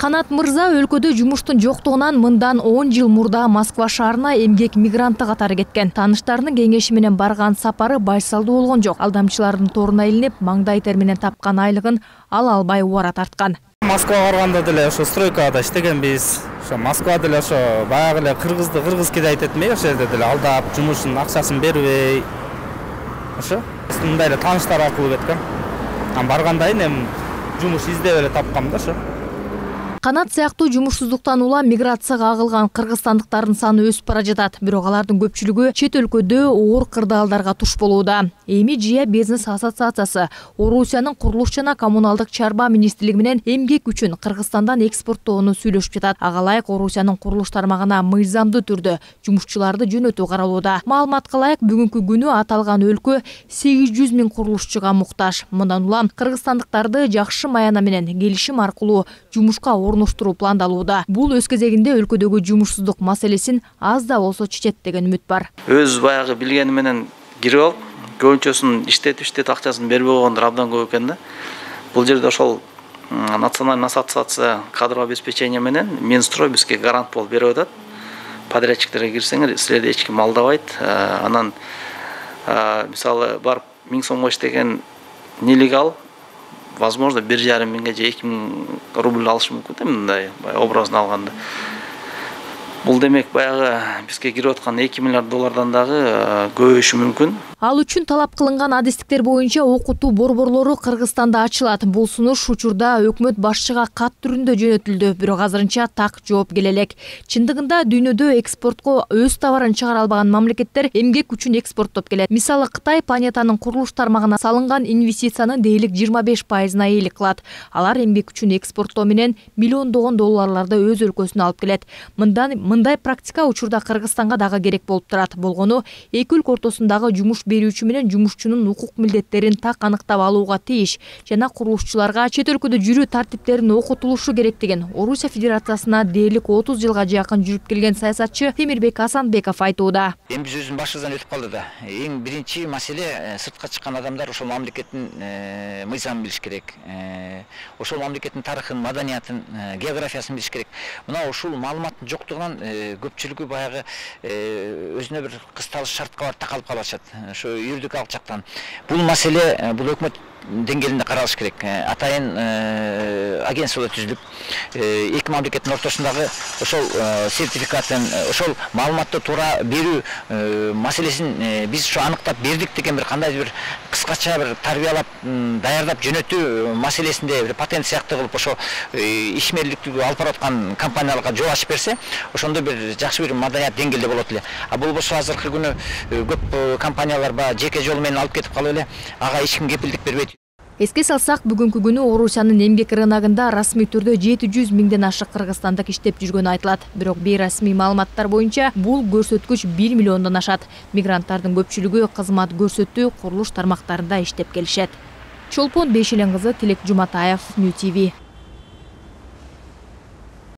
Канат мырза өлкөдө жумуштун жоктугунан мындан 10 жыл мурда Москва шаарына эмгек мигранты катары кеткен. Таныштарынын кеңеши менен барган сапары байсалдуу болгон жок. Алдамчылардын торуна илинип, маңдай тер менен тапкан айлыгын ала албай убара тарткан. Москвага барганда деле ошо стройкада иштегенбиз. Ошо Москвада деле ошо баягы эле кыргыз кедайт этмей ошол жерде деле алдап, жумушунун акчасын бербей. Ошо мындай эле тааныштар аркылуу кеткен. Баргандан кийин жумуш издеп эле тапкам да ошо. Канат сыяктуу жумушсуздуктан улам миграцияга агылган кыргызстандыктардын саны өсүп бара жатат. Бирок алардын көпчүлүгү чет өлкөдө оор кырдаалдарга туш болууда. Эми ЖИА бизнес ассоциациясы Орусиянын курулуш жана коммуналдык чарба министрлиги менен эмгек үчүн Кыргызстандан экспорттоону сүйлөшүп жатат. Ага ылайык Орусиянын курулуш тармагына мыйзамдуу түрдө жумушчуларды жөнөтүү каралууда. Маалыматка ылайык бүгүнкү күнү аталган өлкө 800 000 курулушчуга муктаж. Мындан улам кыргызстандыктарды жакшы маяна менен келишим аркылуу жумушка орноштуруу пландалууда. Бул өз кезегинде өлкөдөгү жумушсуздук маселесин аз да болсо чечет деген үмүт бар. Өз баягы билгени менен кирип алып, көбүнчөсүн иштетип акчасын бербей койгондор абдан көп экен да. Бул жерде ошол национальный ассоциация кадрового обеспечения менен Минстрой бизге гарант болуп берип атат. Подрядчиктерге кирсеңер, силерди эч ким алдабайт. Анан мисалы барып 1000 сомго иштеген нелегал возможно 1,5 миңге же 2 000 рубль алышы мүмкүн да, мындай образын алганда. Бул демек баягы бизге кирип аткан 2 миллиард доллардан дагы көбөйүшү мүмкүн. Ал үчүн талап кылынган адистиктер боюнча окутуу борборлору Кыргызстанда ачылат. Бул сунуш учурда өкмөт башчыга кат түрүндө жөнөтүлдү, бирок азырынча так жооп келе элек. Чындыгында дүйнөдө экспортко өз товарын чыгара албаган мамлекеттер эмгек үчүн экспорттоп келет. Мисалы Кытай планетанын курулуш тармагына салынган инвестициянын дээрлик 25%-на ээлик кылат. Алар эмгек үчүн экспорттоо менен миллиондогон долларларды өз өлкөсүнө алып келет. Мындай практика учурда Кыргызстанга дагы керек болуп турат. Болгону эки өлкө ортосундагы жумуш берүүчү менен жумушчунун укук милдеттерин так аныктап алууга тийиш жана курулушчуларга чет өлкөдө жүрүү тартиптерин окутулушу керектигин Орусия Федерациясына дээрлик 30 жылга жакын жүрүп келген саясатчы Темирбек Асанбеков айтууда. Эми биз өзүбүздүн башыбыздан өтүп калды да. Эң биринчи маселе сыртка чыккан адамдар ошол мамлекеттин мыйзамын билиш керек. Ошол мамлекеттин тарыхын, маданиятын, географиясын билиш керек. Мына ушул маалыматтын жоктугунан көпчүлүгү баягы өзүнө бир кысталыш шартка барып такалып калышат. Ошо юридикалык жактан. Бул маселе бул өкмөт деңгээлинде каралыш керек. Атайын агентстволор түзүлүп, эки мамлекеттин ортосундагы ошол сертификатын, ошол маалыматты туура берүү маселесин биз ошо аныктап бердик деген бир кандайдыр бир кыскача бир тарбиялап, даярдап жөнөтүү маселесинде бир патент сыяктуу кылып ошо ишмерликтүү алып бараткан компанияларга жол ачып берсе, ошондо бир жакшы бир маданият деңгээлде болот эле. А болбосо азыркы күнү көп компаниялар жеке жол менен алып кетип калып эле, ага эч ким кепилдик бербейт. Эске салсак, бүгүнкү күнү Орусиянын эмгек рыногунда расмий түрдө 700 000ден ашык кыргызстандык иштеп жүргөнү айтылат. Бирок бейрасмий маалыматтар боюнча бул көрсөткүч 1 миллиондон ашат. Мигранттардын көпчүлүгү кызмат көрсөтүү, курулуш тармактарында иштеп келишет. Чолпон Бейшелен кызы, Тилек Жуматаев, Нью ТВ.